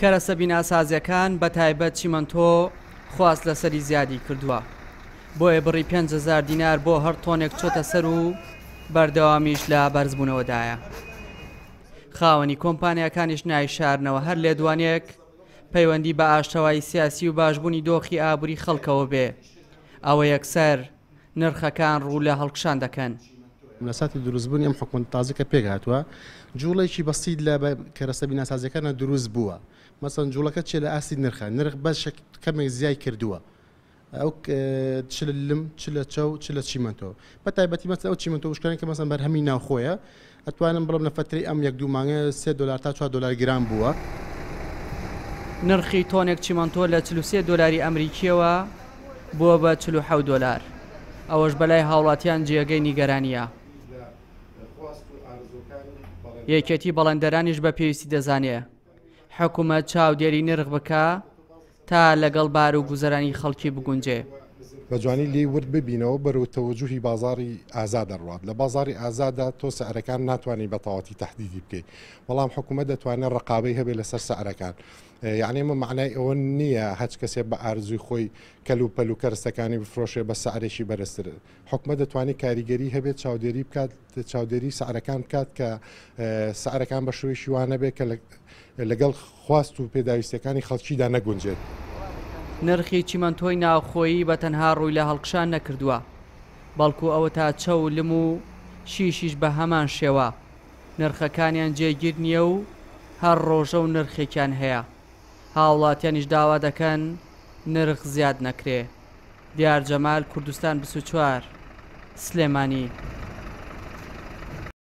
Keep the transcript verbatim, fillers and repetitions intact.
کەرەسە بیناسازیەکان بە تایبەت چیمەنتۆ خواست لەسەری زیادی کردووە، بۆیە بڕی پێنج هەزار دینار بۆ هەر تۆنێک چۆتە سەر و بەردەوامیش لە بەرزبوونەوەدایە. خاوەنی کۆمپانیاکانیش نایشارنەوە هەر لێدوانێک پەیوەندی بە ئاشتەوایی سیاسی و باشبوونی دۆخی ئابووری خەڵکەوە بێ، ئەوە یەکسەر نرخەکان ڕوو لە هەڵکشان دەکەن. لە ساتی دروستبوونی ئەم حکومەت تازە کە پێک هاتووە جوڵێکی بەسیط لە کەرەسە بیناسازیەکانە دروست بووە. مەسەن جوڵەکە چێ لە ئاستی نرخە، نرخ بەشێک کەمێک زیای کردووە، ئەو چ لە لم چ لە چەو چ لە چیمەنتۆ، بە تایبەتی مەسەن ئەو چیمەنتۆ وشکانە کە مەسەن بەرهەمی ناوخۆیە ئەتوانم بڵێم لە فەترەی ئەم یەک دوو مانگە سێ دۆلار تا چوار دۆلار گران بووە. نرخی تۆنێک چیمەنتۆ لە چل و سێ دۆلاری ئەمریکیەوە بووە بە چل و حەوت دۆلار، ئەوەش بەلای هاوڵاتیان جێگەی نیگەرانیە. یەکێتی بەڵێندەرانیش بە پێویستی دەزانێ حکوومەت چاودێری نرخ بکە تا لەگەڵ بار و گوزەرانی خەڵکی بگونجێ. بە جوانی لێی ورد ببینەوە بەرەو تەوەجوهی بازاری ئازاد دەڕوات. لە بازاری ئازادا تۆ سعرەکان ناتوانانی بە تەواوەتی تەحدیدی بکەیت، بەڵام حکوومەت دەتوانێت ڕقابەی هەبێت لەسەر سعرەکان. یعنی ئەمە معنای ئەوە نییە هەچ کەسێک بە ئارزوی خۆی کەل و پەل و کەرەستەکانی بفرۆشێ بە سعرێکی بەرزتر. حکومەت دەتوانێت کاریگەری هەبێت، چاودێری بکات، چاودێری سعرەکان بکات کە سعرەکان بە شێوەیەکی وانە بێت کە لەگەڵ خواست و پێداویستیەکانی خەڵکیدا نەگونجێت. نرخی چیمەنتۆی ناوخۆیی بە تەنها ڕووی لە هەڵکشان نەکردووە، بەڵکو ئەوە تا چەو لم و شیشیش بە هەمان شێوە نرخەکانیان جێگیر نییە و هەر ڕۆژە و نرخێکیان هەیە. هاوڵاتیانیش داوا دەکەن نرخ زیاد نەکرێ. دیار جەمال، کوردستان بیست و چوار، سلێمانی.